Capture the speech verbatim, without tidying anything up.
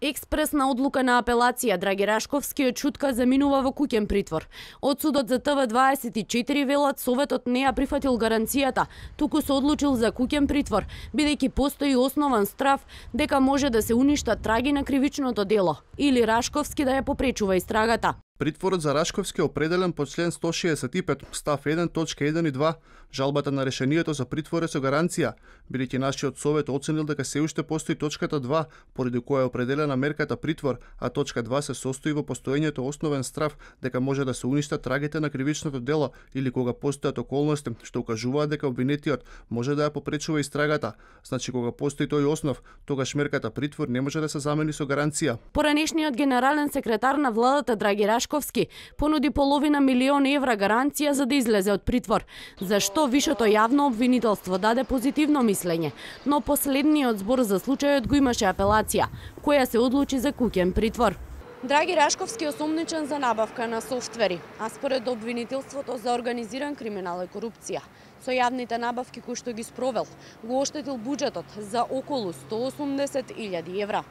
Експресна одлука на апелација, Драги Рашковски од Чутка заминува во куќен притвор. Од судот за Т В дваесет и четири велат Советот не ја прифатил гаранцијата, туку се одлучил за куќен притвор, бидејќи постои основан страв дека може да се уништат траги на кривичното дело или Рашковски да ја попречува истрагата. Притворот за Рашковски е определен по член сто шеесет и пет, став еден, точка еден и два. Жалбата на решението за притвор е со гаранција, бидејќи нашиот совет оценил дека се уште постои точката два, поради која е определена мерката притвор, а точка два се состои во постоењето основен страв дека може да се уништат трагите на кривичното дело или кога постојат околности што укажуваат дека обвинетиот може да ја попречува истрагата. Значи кога постои тој основ, тогаш мерката притвор не може да се замени со гаранција. Поранешниот генерален секретар на владата Драги Рашковски понуди половина милион евра гаранција за да излезе од притвор. Зашто вишето јавно обвинителство даде позитивно мислење, но последниот збор за случајот го имаше апелација, која се одлучи за куќен притвор. Драги Рашковски е осомничен за набавка на софтвери, а според обвинителството за организиран криминал и корупција. Со јавните набавки кои што ги спровел, го оштетил буџетот за околу сто осумдесет илјади евра.